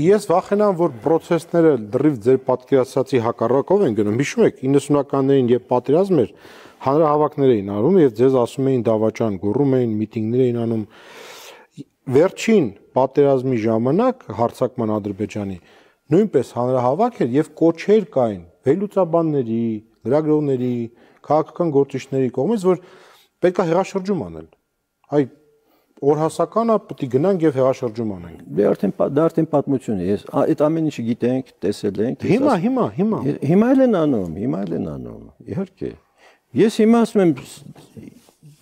Ես վախենամ, որ process-ները դրիվ ձեր պատկերացրածի հակառակով են գնում։ Հիշում եք 90-ականներին, երբ պատերազմ էր, հանրահավաքներ էին արում եւ ձեզ ասում էին դավաճան, գոռում էին, միտինգներ էին անում։ Վերջին պատերազմի ժամանակ հարձակման Ադրբեջանի նույնպես հանրահավաք էր եւ կոչեր կային վերլուծաբանների, լրագրողների, քաղաքական գործիչների կողմից, որ պետք է հեղաշրջում անել։ Այ օրհասականը պետք է գնանք եւ հեղաշրջում անենք։ Դե արդեն պատմություն է։ Ես այդ ամեն ինչը գիտենք, տեսել ենք։ Հիմա էլ են անում, իհարկե։ Ես հիմա ասում եմ,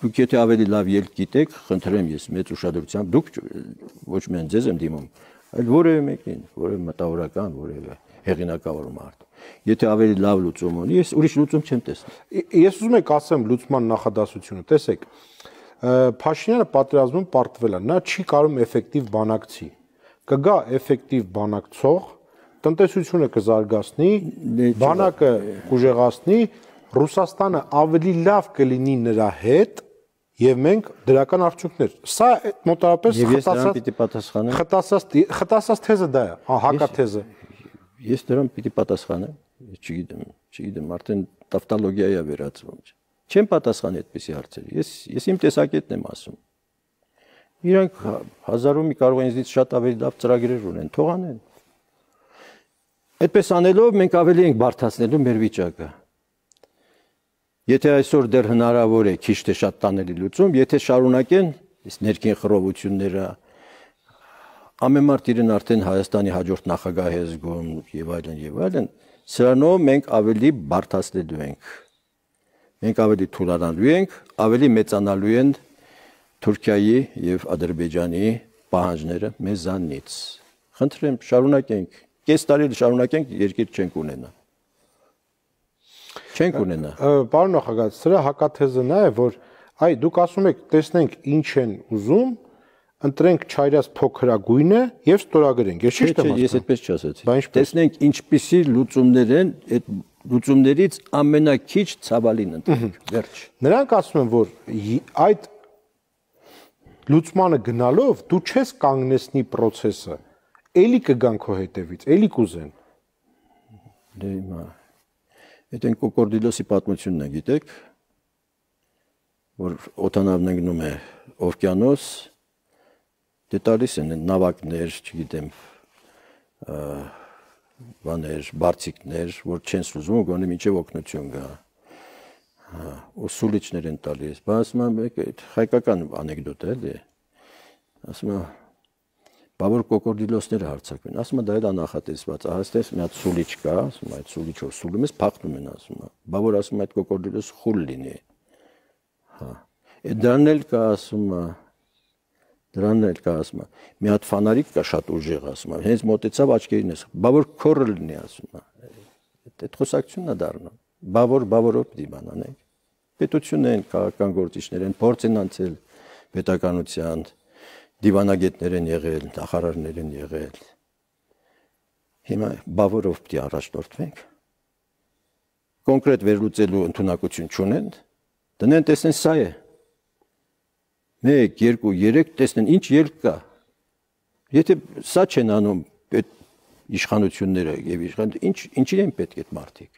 դուք եթե ավելի լավ ելք գիտեք, խնդրեմ ես մեծ ուշադրությամբ, դուք ոչ միայն ձեզ եմ դիմում, այլ որևէ մեկին, որևէ մտավորական, որևէ հեղինակավոր մարդ։ Եթե ավելի լավ լուծում ունի, ես ուրիշ լուծում չեմ տեսնում։ Ես ուզում եմ ասեմ լուծման նախադասությունը, տեսեք, Փաշինյանը պատերազմում պարտվել է, նա չի կարող էֆեկտիվ բանակցի։ Կգա էֆեկտիվ բանակցող, տնտեսությունը կզարգացնի, բանակը կուժեղացնի, Ռուսաստանը ավելի լավ կլինի նրա հետ եւ մենք դրական արդյունքներ։ Սա մոտավորապես խտասած թեզը դա է, հակաթեզը։ Ես դրան պիտի պատասխանեմ, չգիտեմ, արդեն տավտոլոգիա է վերածվում։ Չեմ պատասխանի այդպիսի հարցերի։ Ես իմ տեսակետն եմ ասում։ Իրանք հազարումի կարող են ինձնից շատ ավելի լավ ծրագրեր ունեն, թող անեն։ Այդպես անելով մենք ավելի ենք բարդացնելու մեր վիճակը։ Եթե այսօր դեռ հնարավոր է քիչ թե շատ տանելի լուծում, եթե շարունակեն այս ներքին խռովությունները, ամեն մարդ իրեն արդեն Հայաստանի հաջորդ նախագահ է զգում եւ այլն, սրանով մենք ավելի բարդացնելու ենք։ Մենք ավելի թուլանալու ենք, ավելի մեծանալու են Թուրքիայի եւ Ադրբեջանի պահանջները մեզանից։ Խնդրեմ, շարունակենք, կես տարի շարունակենք, երկիր չենք ունենա։ Պարոն նախագահ, սրա հակաթեզը նա է, որ այ դուք ասում եք, տեսնենք ինչ են ուզում, ընտրենք չայրած փոքրագույնը եւ ստորագրենք։ Ես ճիշտ եմ ասում։ Ես այդպես չասացի։ Տեսնենք ինչպիսի լուծումներ են, այդ լուծումներից ամենակիչ ցավալին ընտրենք։ Վերջ։ Նրանք ասում են, որ այդ լուծմանը գնալով դու չես կանգնեցնի process-ը, էլի կգան քո հետևից, էլի կուզեն։ Դե հիմա այդ են Կոկորդիլոսի պատմությունն է, գիտեք, որ օդանավն ընկնում է օվկիանոս, դե տալիս են նավակներ, չգիտեմ, բաներ, բարձիկներ, որ չեն սուզում, գոնե մինչև օգնություն գա։ Ու սուլիչներ են տալիս։ Բա ասում եմ, հայկական անեկդոտ է, էլի։ Ասում եմ, բա որ կոկորդիլոսները հարձակվեն, ասում եմ, դա էլ է նախատեսված, այստեղ մի հատ սուլիչ կա, ասում եմ, այդ սուլիչով սուլում ես, փախնում են, ասում եմ, բա որ ասում եմ, այդ կոկորդիլոս խուլ լինի։ Հա։ Դրանն էլ կա, ասում եմ, մի հատ ֆանարիկ կա շատ ուժեղ, ասում եմ, հենց մոտեցավ աչքերին ես, բա որ քորը լինի, ասում եմ, այդ խոսակցությունն է դառնում, բա որով պիտի բան անենք, պետություն են, քաղաքական գործիչներ են, փորձ են անցել պետականության, դիվանագետներ են եղել, նախարարներ են եղել, հիմա բա որով պիտի առաջնորդվենք, կոնկրետ վերլուծելու ընդունակություն չունեն, դնեն տեսնեն սա է, 1, 2, 3 տեսնեն ինչ ելք կա։ Եթե սա չեն անում այդ իշխանությունները եւ ինչին են պետք այդ մարդիկ։